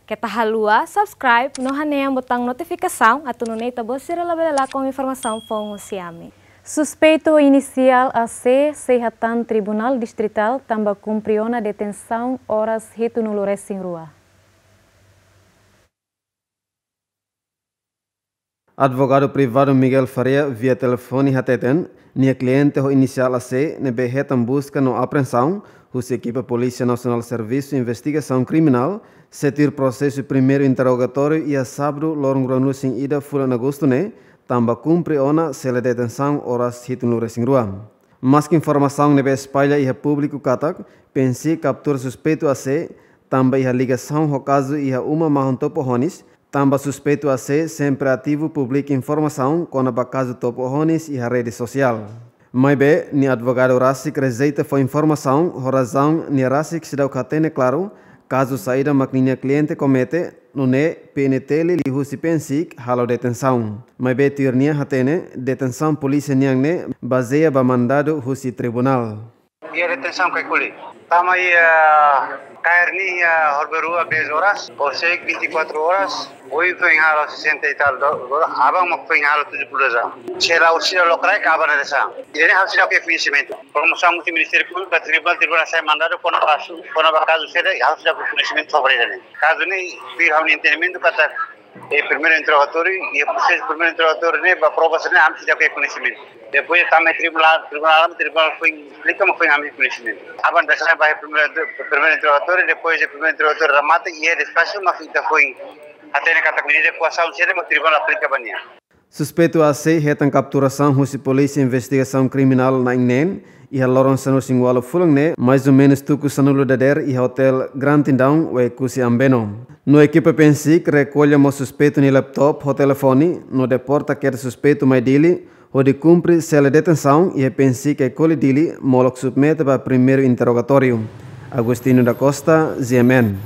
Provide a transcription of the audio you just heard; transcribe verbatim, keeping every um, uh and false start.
Keta haluha subscribe no hanehan butaun notifikasaun atu nune'e ita-boot sira labele lakon informasaun foun husi ami. Suspeitu inisiál A C sei hatán Tribunál Distritál tanba kumpre ona detensaun oras hitunulu resin rua. Advogadu privadu Miguel Faria via telefone hateten, nia kliente ho inisiál A C ne'ebé hetan buska no apreensaun husi ekipa Polísia Nasionál Servisu Investigasaun Kriminál, sei tuir prosesu primeiru interrogatóriu iha sábadu loron ruanulu-resin-ida fulan Agostu ne'e, tanba kumpre ona sela detensaun oras hitunulu-resin-rua. Maski informasaun ne'ebé espalla iha públiku katak PNSIC kaptura suspeitu A C tanba iha ligasaun ho kazu iha uma mahon Topo Honis, tanba suspeitu A C sempre ativu publika informasaun kona-ba kazu Topo Honis iha rede sosiál. Maibé, nia advogadu rasik rejeita fó informasaun ho razaun nia rasik seidauk hatene klaru kazu saida mak ninia kliente komete, nune'e PNTL liuhusi PNSIC halo detensaun. Maibé tuir nia hatene, detensaun polísia nian ne'e bazeia ba mandadu husi tribunál. Iha detensaun Caicoli. Tama iha kaer ne'e iha horibainrua dez horas, konsege vinte e quatro horas, oin foin halo sessenta e tal do-, do-, aban mak foin halo tujuh puluh dua jam. Sela orsida lokraik aban detensaun. Ida-ne'e ha'u seidauk iha koñesimentu. Promosaun husi Ministériu Públiku ba tribunál, tribunál hasai mandadu kona-ba kazu, kona-ba kazu sira, ha'u seidauk iha koñesimentu sobre ida-ne'e. Kazu ne'e, tuir ha'u-nia entendimentu katak, eh, primeiru interrogatóriu, iha prosesu primeiru interrogatóriu ne'e, ba prova sira-ne'e, ami seidauk iha koñesimentu. Depois, tama tribunál, tribunál, tribunál foin esplika, mak foin ami koñesimentu. Aban detensaun ba primeiru, primeiru interrogatóriu, depois de primeiru interrogatóriu remata, iha despaxu, mak ita foin hatene katak medida koasaun sira, mak tribunál aplika ba nia. Suspeitu A C hetan kapturasaun husi Polísia Investigasaun Kriminál na'in-neen iha loron sanulu-resin-ualu fulan ne'e, mais ou menus tuku sanulu dadeer iha Hotel Grand Tindaun, Oekusi, Ambeno. No ekipa PNSIC rekolla mós suspeitu nia laptop ho telefone, no deporta kedas suspeitu mai Dili, hodi kumpre sela detensaun iha PNSIC Caicoli, Dili, molok submete ba primeiru interrogatóriu. Agostinho da Costa, G M N.